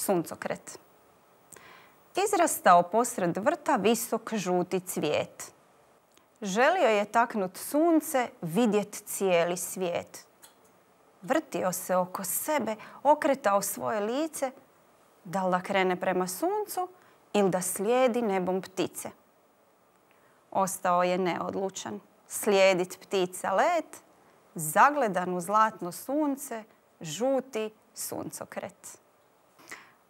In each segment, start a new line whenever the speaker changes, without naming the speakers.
Suncokret. Izrastao posred vrta visok žuti cvijet. Želio je taknut sunce, vidjet cijeli svijet. Vrtio se oko sebe, okretao svoje lice, da li da krene prema suncu ili da slijedi nebom ptice. Ostao je neodlučan. Slijedit ptica let, zagledan u zlatno sunce, žuti suncokret.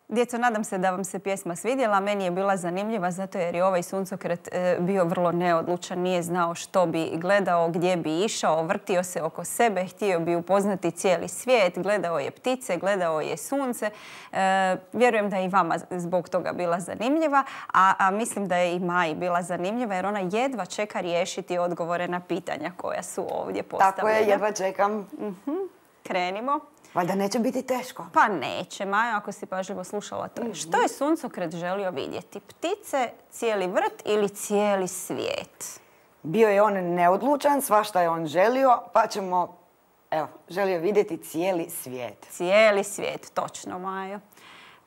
Djeco, nadam se da vam se pjesma svidjela. Meni je bila zanimljiva zato jer je ovaj suncokret bio vrlo neodlučan. Nije znao što bi gledao, gdje bi išao. Vrtio se oko sebe, htio bi upoznati cijeli svijet. Gledao je ptice, gledao je sunce. Vjerujem da je i vama zbog toga bila zanimljiva. A mislim da je i Maji bila zanimljiva jer ona jedva čeka riješiti odgovore na pitanja koja su ovdje postavljena.
Tako je, jedva čekam.
Krenimo.
Valjda neće biti teško.
Pa neće, Maja, ako si pažljivo slušala to. Što je suncokret želio vidjeti? Ptice, cijeli vrt ili cijeli svijet?
Bio je on neodlučan, svašta je on želio, pa ćemo, želio vidjeti cijeli svijet.
Cijeli svijet, točno, Majo.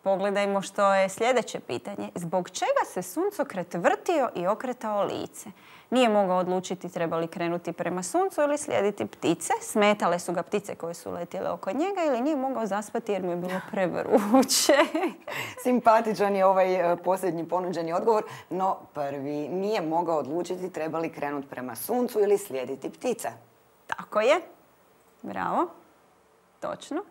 Pogledajmo što je sljedeće pitanje. Zbog čega se suncokret vrtio i okretao lice? Nije mogao odlučiti treba li krenuti prema suncu ili slijediti ptice. Smetale su ga ptice koje su letjele oko njega ili nije mogao zaspati jer mu je bilo prevruće.
Simpatičan je ovaj posljednji ponuđeni odgovor, no prvi nije mogao odlučiti treba li krenuti prema suncu ili slijediti ptice.
Tako je. Bravo. Točno.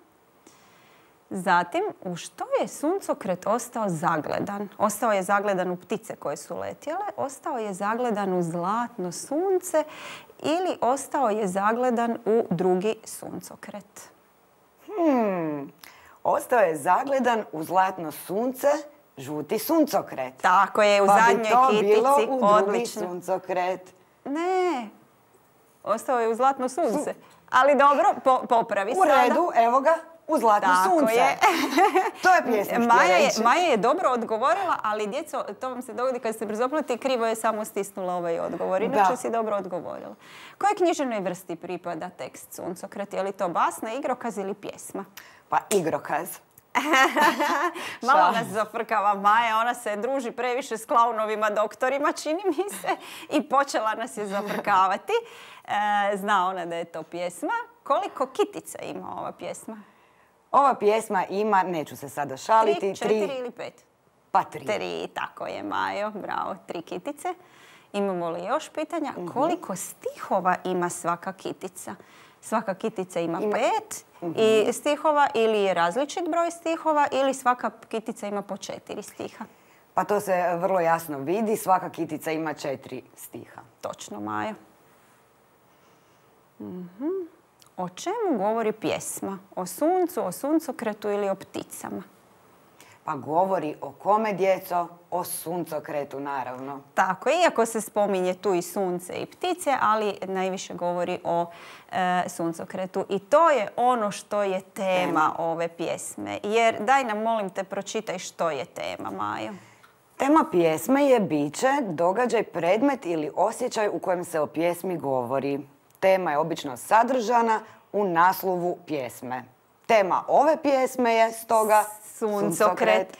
Zatim, u što je suncokret ostao zagledan? Ostao je zagledan u ptice koje su letjele, ostao je zagledan u zlatno sunce ili ostao je zagledan u drugi suncokret?
Ostao je zagledan u zlatno sunce, žuti suncokret.
Tako je, u zadnjoj kitici.
Pa bi to bilo u drugi suncokret.
Ne, ostao je u zlatno sunce. Ali dobro, popravi sada.
U redu, evo ga. U zlatno sunce.
Je.
To je pjesma htio reći.
Maja je dobro odgovorila, ali djeco, to vam se dogodi kad ste brzopleti, krivo je samo stisnula ovaj odgovor. Inače si dobro odgovorila. Kojoj književnoj vrsti pripada tekst Suncokret? Je li to basna, igrokaz ili pjesma?
Pa igrokaz.
Malo nas zafrkava Maja, ona se druži previše s klaunovima doktorima, čini mi se, i počela nas je zafrkavati. Zna ona da je to pjesma. Koliko kitica ima ova pjesma?
Ova pjesma ima, neću se sada šaliti,
3, 4 ili 5?
Pa 3.
3, tako je, Majo, bravo, 3 kitice. Imamo li još pitanja? Koliko stihova ima svaka kitica? Svaka kitica ima 5 i stihova ili je različit broj stihova ili svaka kitica ima po 4 stiha?
Pa to se vrlo jasno vidi, svaka kitica ima 4 stiha.
Točno, Majo. O čemu govori pjesma? O suncu, o suncokretu ili o pticama?
Pa govori o kome, djeco? O suncokretu, naravno.
Tako, iako se spominje tu i sunce i ptice, ali najviše govori o suncokretu. I to je ono što je tema ove pjesme. Jer daj nam, molim te, pročitaj što je tema, Majo.
Tema pjesme je biće, događaj, predmet ili osjećaj u kojem se o pjesmi govori. Tema je obično sadržana u naslovu pjesme. Tema ove pjesme je stoga Suncokret.